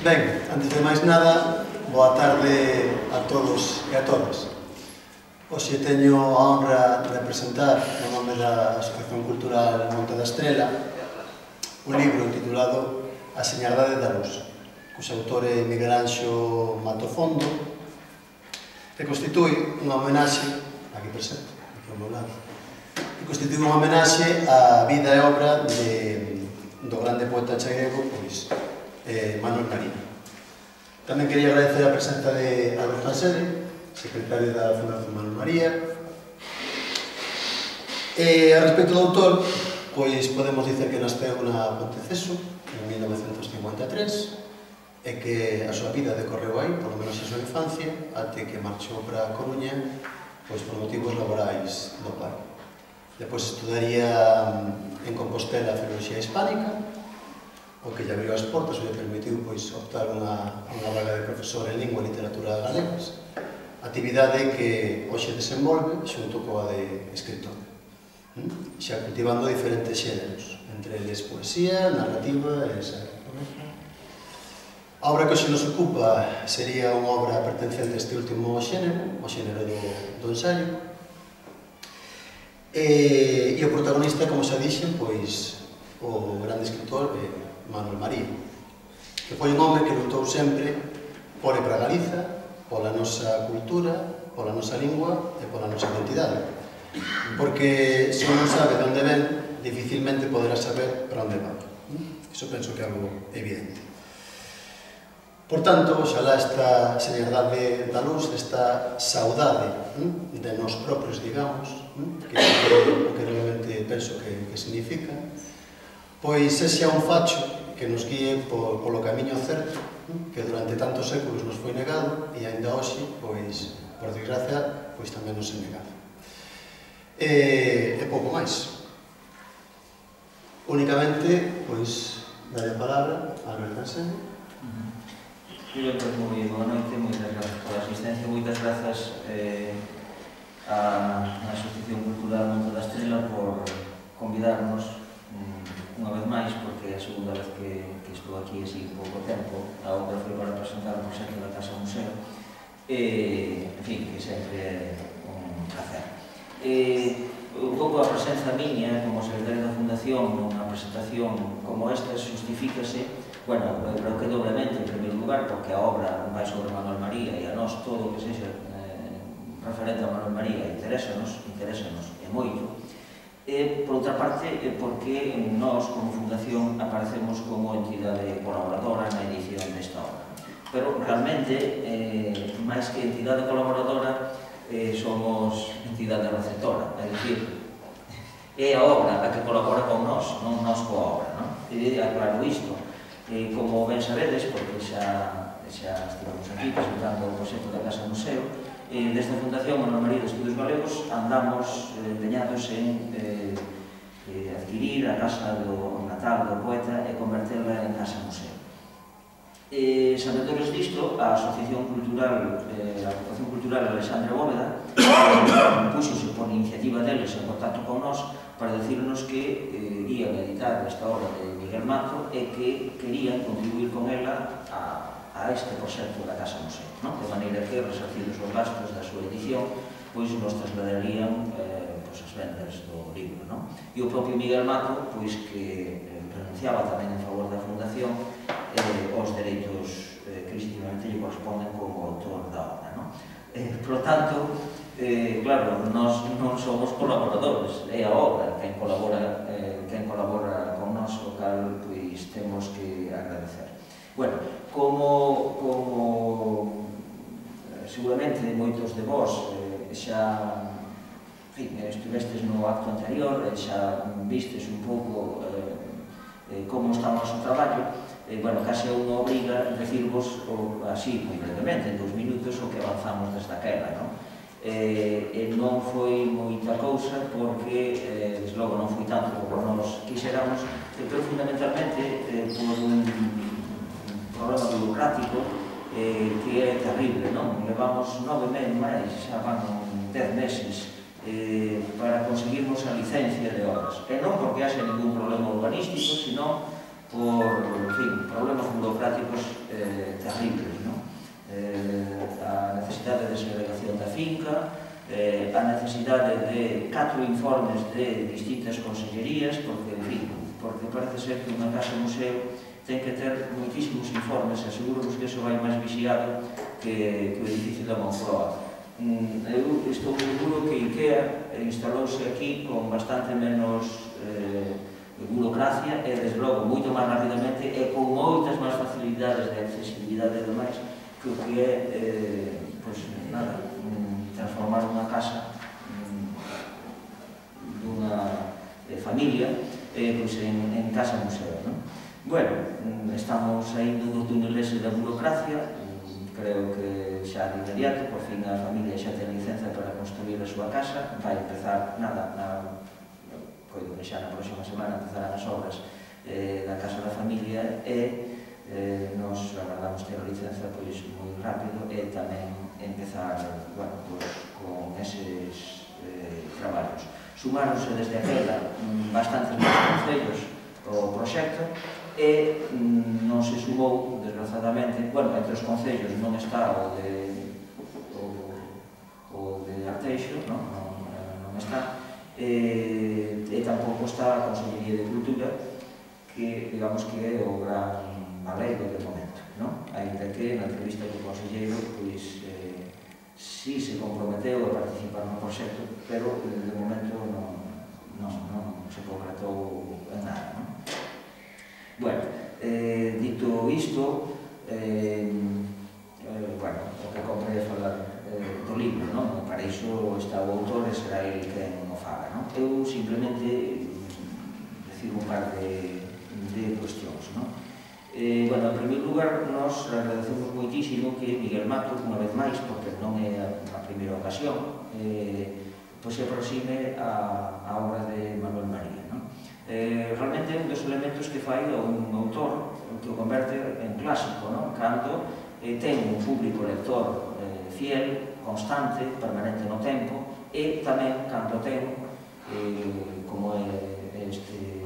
Ben, antes de máis nada, boa tarde a todos e a todas. Hoxe teño a honra de presentar, no nome da Asociación Cultural Monte da Estrela, un libro titulado A Señardade da Luz, cuxo autor é Miguel Anxo Matofondo, que constitúe unha homenaxe, aquí presente, aquí ao meu lado, que constitúe unha homenaxe á vida e obra do grande poeta chairego, pois, Manuel María. Tamén quería agradecer a presenza de Alberto Ansede, secretario da Fundación Manuel María. A respecto do autor, pois podemos dicer que nasceu na Ponteceso en 1953 e que a súa vida decorreu aí, polo menos a súa infancia, até que marchou para a Coruña, pois por motivos laborais do pai. Depois estudaría en Compostela Filoloxía Hispánica, o que lle abriu as portas e lle permitiu optar unha vaga de profesor en Lingua e Literatura Galegas, actividade que hoxe desenvolve xunto coa de escritor, xa cultivando diferentes xéneros, entre eles poesía, narrativa e ensaio. A obra que hoxe nos ocupa sería unha obra pertencente a este último xénero, o xénero do ensaio, e o protagonista, como xa dixen, pois o grande escritor Manuel María, que foi un home que lutou sempre por e para Galiza, pola nosa cultura, pola nosa lingua e pola nosa identidade. Porque se non sabe de onde ven, dificilmente poderá saber para onde va. Iso penso que é algo evidente. Por tanto, oxalá esta señardade da luz, esta saudade de nós propios, digamos, que é o que realmente penso que significa, pois sexa un facho que nos guíe polo camiño certo, que durante tantos séculos nos foi negado e aínda hoxe, pois, por desgracia, pois tamén nos é negado. E pouco máis. Únicamente, pois, daré a palabra a Alberto Ansede. Moi boa noite, moitas grazas pola asistencia, moitas grazas á Asociación Cultural Monte da Estrela por convidarnos unha vez máis, porque é a segunda vez que estou aquí así pouco tempo. A obra foi para presentar o proxecto da Casa Museo, en fin, que sempre é un placer. Un pouco a presenza miña como secretario da Fundación nunha presentación como esta xustifícase, bueno, creo que doblemente, en primeiro lugar, porque a obra vai sobre Manuel María e a nós todo o que sexa referente a Manuel María interésanos e moito. Por outra parte, porque nós, como Fundación, aparecemos como entidade colaboradora na edición desta obra. Pero, realmente, máis que entidade colaboradora, somos entidade receptora, é dicir, é a obra a que colabora con nós, non nós coa obra, non? E aclaro isto, como ben sabedes, porque xa estivemos aquí presentando o proxecto da Casa Museo, desde a Fundación Manuel María de Estudos Galegos andamos empeñados en adquirir a casa do natal do poeta e converterla en Casa Museo. Sabedores disto, a Asociación Cultural Alexandre Bóveda puxose por iniciativa deles en contacto con nós para decirnos que ian editar esta obra de Miguel Mato e que querían contribuir con ela a este proxecto da Casa Museo, de maneira que, resarcidos os gastos da súa edición, pois nos trasladarían as vendas do libro. E o propio Miguel Mato, pois que renunciaba tamén en favor da Fundación os dereitos que legítimamente lle corresponden como autor da obra. Por tanto, claro, nós non somos colaboradores, é a obra quen colabora con nós, o cal pois temos que agradecer. Bueno, como seguramente moitos de vós xa estivestes no acto anterior e xa vistes un pouco como está o noso traballo, case unha obriga decirvos así, moi brevemente, en 2 minutos, o que avanzamos desde aquela. Non foi moita cousa porque, desde logo, non foi tanto como nos quixéramos, pero fundamentalmente por un problema burocrático que é terrible, non? Levamos 9 meses máis, xa van 10 meses para conseguirmos a licencia de obras. E non porque haxe ningún problema urbanístico, sino por problemas burocráticos terribles, a necesidade de segregación da finca, a necesidade de 4 informes de distintas consellerías, porque, en fin, porque parece ser que unha casa-museo ten que ter moitísimos informes, e seguro que iso vai máis vixiado que o edificio da Moncloa. Eu estou seguro que IKEA instalouse aquí con bastante menos burocracia e, desde logo, moito máis rapidamente e con moitas máis facilidades de accesibilidade e demais que o que é, transformar unha casa dunha familia en casa-museo. Bueno, estamos saindo do túnel ese da burocracia, creo que xa de inmediato, por fin a familia xa ten licenza para construir a súa casa, vai empezar, coido que xa na próxima semana empezarán as obras da casa da familia e nos agardamos ter a licenza moi rápido e tamén empezar con eses traballos. Sumáronse desde aquela bastantes máis concellos ao proxecto e non se sumou, desgraciadamente, entre os concellos non está o de Arteixo, non está, e tampouco está a Consellería de Cultura, que, digamos, que é o gran baleiro de momento, ainda que na entrevista do conselleiro, pois, sí se comprometeu a participar no proxecto, pero de momento non se concretou en nada. Bueno, dito isto, o que compre é falar do libro, para iso está o autor e será ele quen o faga. Eu simplemente decir un par de cuestións. En primeiro lugar, nos agradecemos moitísimo que Miguel Mato, unha vez máis, porque non é a primeira ocasión, se aproxime a obra de Manuel María. Realmente é un dos elementos que fai a un autor que o converte en clásico, cando ten un público lector fiel, constante, permanente no tempo, e tamén cando ten, como é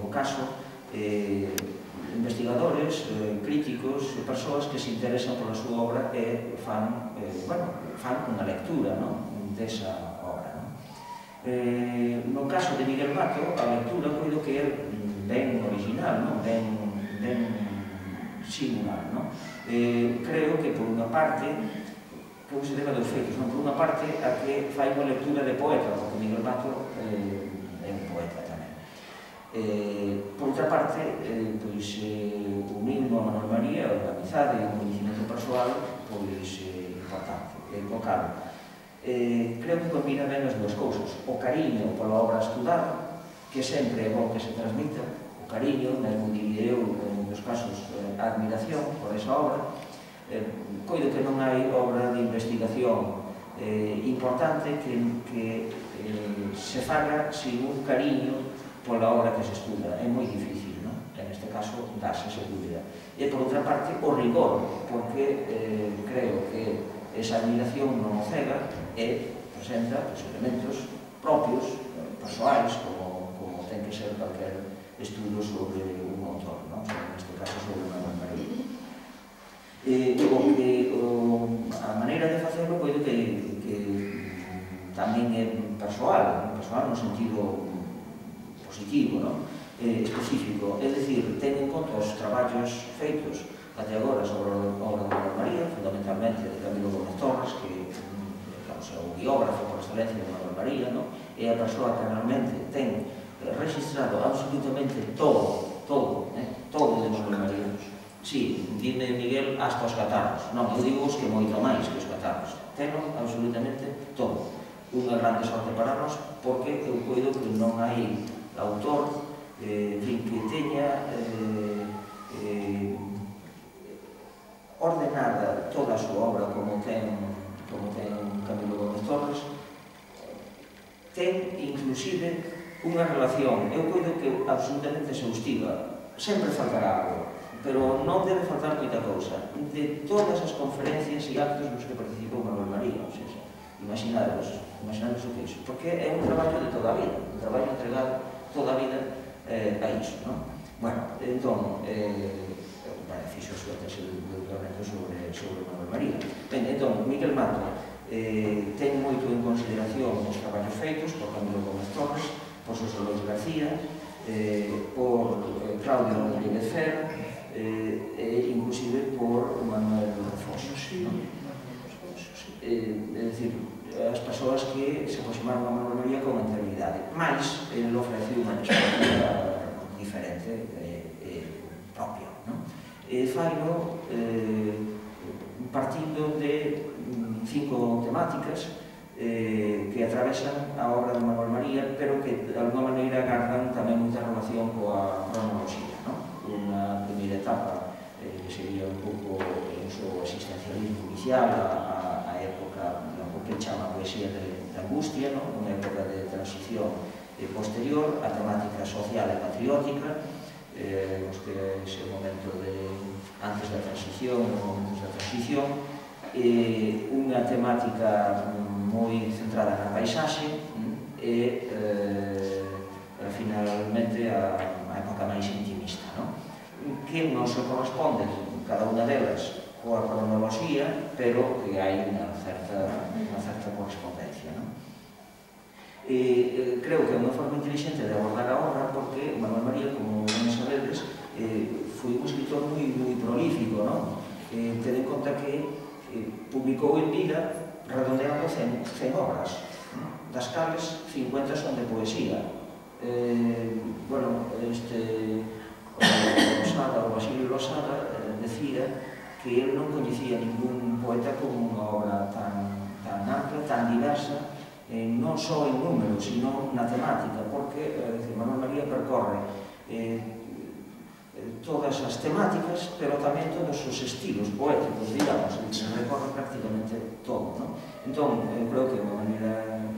o caso, investigadores, críticos, persoas que se interesan pola súa obra e fan unha lectura desa obra. No caso de Miguel Mato, a lectura coido que é ben original, ben singular. Creo que, por unha parte, que se debe dos feitos, por unha parte, a que fai unha lectura de poeta, porque Miguel Mato é un poeta tamén. Por outra parte, unindo a Manuel María, a amizade e o coñecimento persoal, importante, evocado. Creo que combina ben as dúas cousas. O cariño pola obra estudada, que sempre é bom que se transmita, o cariño, mesmo diría eu, en dos casos, a admiración por esa obra. Coido que non hai obra de investigación importante que se faga sin un cariño pola obra que se estuda. É moi difícil, en este caso, dáse esa dúbida. E, por outra parte, o rigor, porque creo que esa admiración non o cega e presenta elementos propios, persoais, como ten que ser calquer estudo sobre un autor, neste caso sobre Manuel María. A maneira de facelo coido que tamén é persoal no sentido positivo, específico, é dicir, ten en conta os traballos feitos até agora sobre a obra de Manuel María, fundamentalmente de Camilo Gómez Torres, que é o biógrafo por excelencia de Manuel María, é a persoa que realmente ten registrado absolutamente todo de Manuel María. Sí, dime Miguel, hasta os catarros. Non, eu digo que moito máis que os catarros. Teno absolutamente todo. Unha grande sorte para nós, porque eu coido que non hai autor que teña ordenada toda a súa obra como ten Camilo Gómez Torres. Ten, inclusive, unha relación, eu coido que absolutamente exhaustiva. Sempre faltará algo, pero non debe faltar moita cousa. De todas as conferencias e actos nos que participou Manuel María, imaginaros o que é iso, porque é un traballo de toda a vida, un traballo entregado toda a vida a iso. Bueno, entón, fixo súa tese de doutoramento María. Ben, entón, Miguel Mato ten moito en consideración os traballos feitos por Camilo Gómez Torres, por Xosé Lois García, por Claudio Rodríguez Fer, e inclusive por Manuel Fosos. É dicir, as persoas que se aproximaron a Manuel María con anterioridade, mais ele ofreciu unha perspectiva diferente propia. Faino partindo de 5 temáticas que atravesan a obra de Manuel María, pero que de alguma maneira gardan tamén moita relación coa cronoloxía. Unha primeira etapa sería un pouco o seu existencialismo inicial, a época do que chama poesía de angustia, unha época de transición posterior, a temática social e patriótica, que é ese momento antes da transición, momentos da transición, unha temática moi centrada na paisaxe e finalmente a época máis intimista, que non se corresponde cada unha delas coa cronoloxía, pero que hai unha certa correspondencia. Creo que é unha forma inteligente de abordar a obra porque Manuel María, como non sabedes, foi un escritor moi prolífico. Ten en conta que publicou en vida redondeando 100 obras, das cales 50 son de poesía. O Basilio Losada decía que ele non coñecía ningún poeta con unha obra tan ampla, tan diversa, non só en número, sino na temática, porque Manuel María percorre todas as temáticas, pero tamén todos os estilos poéticos, digamos, se recorre prácticamente todo. Entón, eu creo que é unha maneira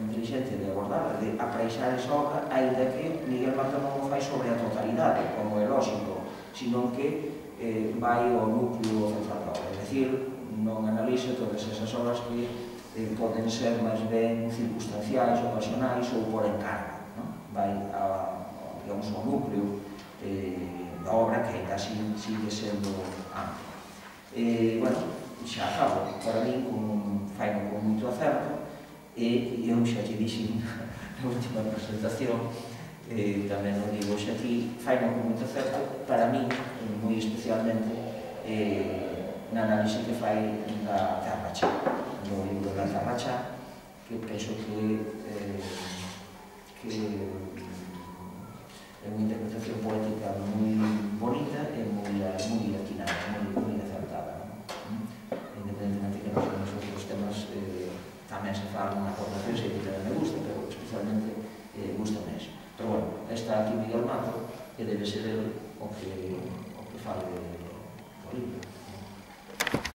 inteligente de abordar, de apreixar esa obra, ainda que Miguel Mato non o fai sobre a totalidade, como é lógico, sino que vai ao núcleo central da obra, é dicir, non analiza todas esas obras que poden ser máis ben circunstanciais, ocasionais ou por encargo. Vai ao núcleo da obra, que ainda así sigue sendo amplo. Xa acabo, para mí faino con moito acerto, e eu xa te dixen na última presentación, tamén o digo xa ti, faino con moito acerto, para mí, moi especialmente, na análise que fai da Tarracha, no libro da Tarracha, que penso que é unha interpretación poética moi bonita e moi atinada, moi acertada. Independentemente que nos outros temas tamén se falan aportacións e que tamén me gusta, pero especialmente gusta máis. Pero bueno, está aquí Miguel Mato, que debe ser el o que fale do libro.